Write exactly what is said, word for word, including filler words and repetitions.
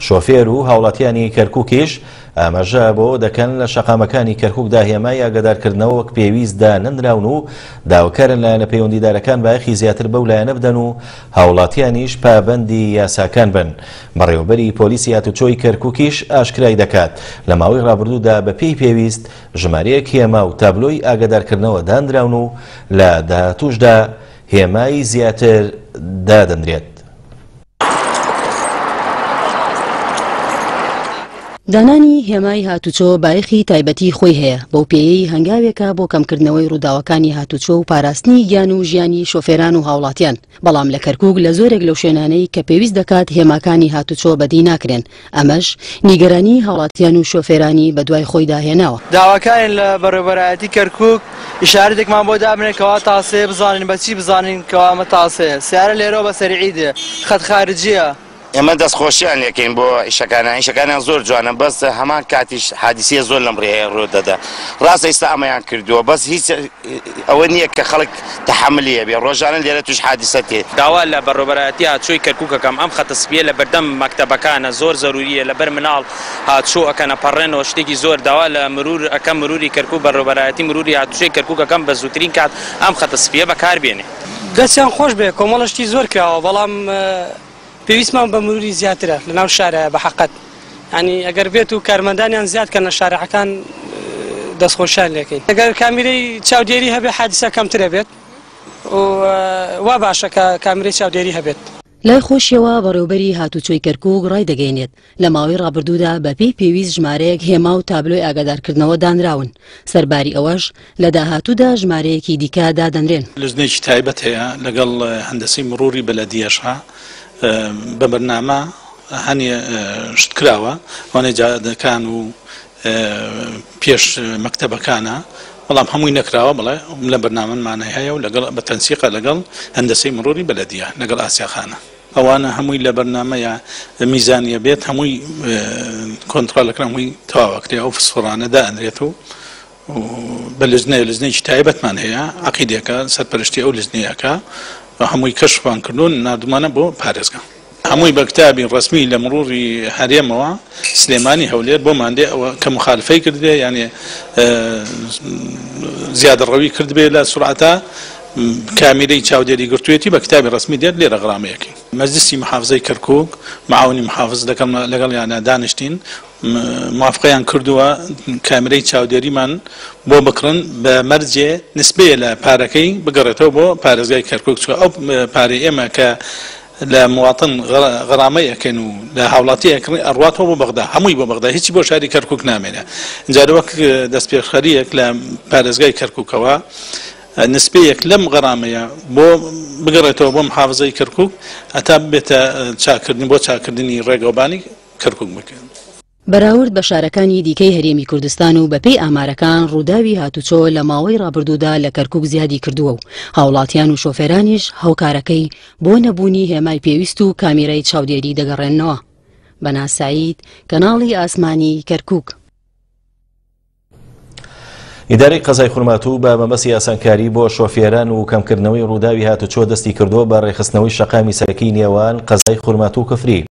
شۆفێر و هاوڵاتیانی کەرکووکیش ئاماژە بۆ دەکەن لە شەقامەکانی کەرکووکدا هێمای ئاگادارکردنەوە وەک پێویستدا نەنراون و داواکارن لایەنە پەیوەندیدارەکان بایەخی زیاتر بەو لایەنە بدەن و هاوڵاتیانیش پابەندی یاساکان بن. بەڕێوەبەری پۆلیسی هاتوچۆی کەرکووکیش ئاشکرای دەکات لە ماوەی ڕابردوودا بە پێی پێویست ژمارەیەک هێما و تابلۆی ئاگادارکردنەوە دانراون و لە داهاتووشدا هێمای زیاتر دادەنرێت. دانانی هێمای هاتوچۆ بایەخی تایبەتی خۆی هەیە، بەو پێیەی هەنگاوێکە بۆ کەمکردنەوەی ڕووداوەکانی هاتوچۆ و پاراستنی گیان و ژیانی شۆفێران و هاوڵاتیان. بەڵام لە کەرکووک لە زۆرێک لەو شوێنانەی کە پێویست دەکات هێماکانی هاتوچۆ بەدی ناکرێن، ئەمەش نیگەرانی هاوڵاتیان و شۆفێرانی بەدوای خۆیدا هێناوە. داواکارین لە بەڕێوەبەرایەتی کەرکووک ئیشارەتێکمان بۆ دابنێن کەوا تاسەیە، بزانین بەچی بزانین کەوا ئەمە تاسەیە. سیارە لێرەوە بە سەریعی دێ، خەت خارجیە. ئێمە دەستخۆشیان لێکەین بۆ ئیشەکانیان، ئیشەکانیان زۆر جوانە، بەس هەمان کاتیش حادیسیە زۆر لەم ڕێیە ڕوو دەدا. ڕاستە ئێستا ئەمەیان کردووە، بەس هیچ ئەوە نییە کە خەڵک تەحەملی هەبێ، ڕۆژانە لێرە توش حادیسە تێ. داوا لە بەڕێوەبەرایەتی هاتوچۆی کەرکووک ئەکەم ئەم خەتە سپیە لە بەردەم مەکتەبەکانە زۆر زەروریە، لەبەر مناڵ هاتوچۆ ئەکەنە پەڕێنەوە شتێکی زۆر. داوا لە مرور ئەکەم، مروری کەرکووک، بەڕێوەبەرایەتی مروری هاتوچۆی کەرکووک ئەکەم بە زووترین کات ئەم خەتە سپیە بەکاربێنێ. دەستیان خۆش بێ، کۆمەڵە شتی زۆر کراوە، بەڵام پێویستمان بە مروری زیاترە لەناو شارە بە حەقەت. یعنی ئەگەر بێت و کارمەندانیان زیاد کەن لە شارعەکان دەستخۆشیان لێکەین. ئەگەر کامیرەی چاودێری هەبێ حادیسە کەمترە بێت و وا باشە کە کامیرەی چاودێری هەبێت. لای خۆشیەوە بەڕێوبەری هاتوچۆی کەرکووک ڕای دەگەینێت لە ماوەی ڕابردوودا بەپێی پێویست ژمارەیەک هێما و تابلۆی ئاگادارکردنەوە دانراون، سەرباری ئەوەش لە داهاتوودا ژمارەیەکی دیکە دادەنرێن. لجنەیەکی تایبەت هەیە لەگەڵ هەندەسەی مروری بەلەدیەشە بە بەرنامە هەنێ شت کراوە، وانەی جادەکان و پێش مەکتەبەکانە، بەڵام هەمووی نەکراوە. بڵێ لە بەرنامەمانە هەیە و لەگەڵ بە تەنسیقە لەگەڵ هەندەسەی مروری بەلەدیە لەگەڵ ئاسیاخانە. ئەوانە هەمووی لە بەرنامەیە میزانیە بێت، هەمووی کۆنترۆڵەکرا، هەمووی تەواوەکرێ، ئەو فسفۆڕانە دائەنرێت و بە لجنەیە لجنەیەکی تایبەتمان هەیە، عەقیدێکە سەرپەرشتی ئەو لجنەیەکە، هەمووی کەشفمان کردوون ناردومانە بۆ پارێزگا. هەمووی بە کتابی ڕسمی لە مروری هەرێمەوە سلێمانی هەولێر بۆمان دێ، ئەوە کە مخالفەی کردبێ یعنی زیادەڕەوی کردبێ لە سرعەتە، کامیرەی چاودێری گرتوێتی بە کتابی ڕسمی دێت لێرە غرامەیەکەی. مەجلسی محافظەی کەرکووک معاونی محافظ لەگەڵیانە دانیشتین، موافقەیان کردووە کامیرەی چاودێریمان بۆ بکڕن بە مەرجێ نسبەیە لە پارەکەی بگەڕێتەوە بۆ پارێزگای کەرکووک، چونکە ئەو پارەی ئێمە کە لە مواطن غرامەی ئەکەن و لە هاوڵاتی ئەکڕین ئەڕواتەوە بۆ بەغدا، هەمووی بۆ بەغدا، هیچی بۆ شاری کەرکووک نامێنێ. ئینجا وەک دەستپێشخەریەک لە پارێزگای کەرکووکەوە نسبەیەک لەم غەرامەیە بۆ بگەڕێتەوە بۆ محافظەی کەرکووک هەتا ببێتە چاکردن بۆ چاکردنی ڕێگەوبانی کەرکووک بکەن. بەراورد بە شارەکانی دیکەی هەرێمی کوردستان و بەپێی ئامارەکان ڕووداوی هاتوچۆ لە ماوەی ڕابردوودا لە کەرکووک زیادی کردووە و هاوڵاتیان و شۆفێرانیش هاوکارەکەی بۆ نەبوونی هێمای پێویست و کامیرەی چاودێری دەگەڕێننەوە. بەنا سعید، کەناڵی ئاسمانی کەرکووک. ئیدارەی قەزای خورماتوو بە مەبەستی ئاسانکاری بۆ شۆفێران و کەمکردنەوەی ڕووداوی هاتوچۆ دەستی کردووە بە ڕێکخستنەوەی شەقامی سەرەکی نێوان قەزای خورماتوو و کفری.